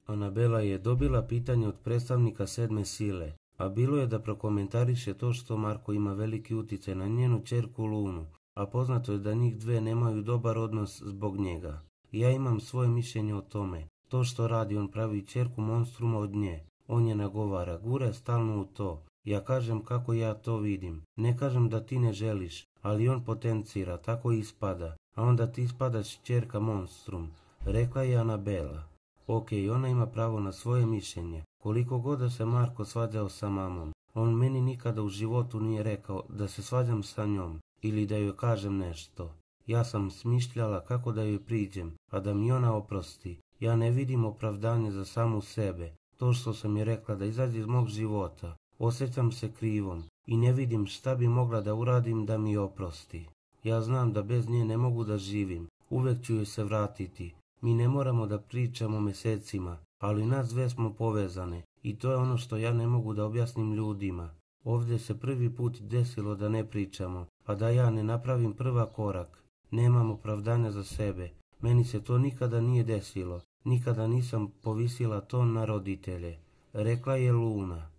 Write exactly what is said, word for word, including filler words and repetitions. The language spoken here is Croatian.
Anabela je dobila pitanje od predstavnika sedme sile, a bilo je da prokomentariše to što Marko ima veliki utjecaj na njenu ćerku Lunu, a poznato je da njih dve nemaju dobar odnos zbog njega. Ja imam svoje mišljenje o tome. To što radi, on pravi ćerku monstruma od nje. On je nagovara, gura stalno u to. Ja kažem kako ja to vidim. Ne kažem da ti ne želiš, ali on potencira, tako ispada. A onda ti ispadaš ćerka monstrum, rekla je Anabela. Ok, ona ima pravo na svoje mišljenje. Koliko god da se Marko svađao sa mamom, on meni nikada u životu nije rekao da se svađam sa njom ili da joj kažem nešto. Ja sam smišljala kako da joj priđem, a da mi ona oprosti. Ja ne vidim opravdanje za samu sebe. To što sam je rekla da izađe iz mog života. Osjećam se krivom i ne vidim šta bi mogla da uradim da mi oprosti. Ja znam da bez nje ne mogu da živim. Uvek ću joj se vratiti. Mi ne moramo da pričamo mjesecima, ali nas dve smo povezane i to je ono što ja ne mogu da objasnim ljudima. Ovdje se prvi put desilo da ne pričamo, a da ja ne napravim prva korak. Nemam opravdanja za sebe. Meni se to nikada nije desilo. Nikada nisam povisila ton na roditelje, rekla je Luna.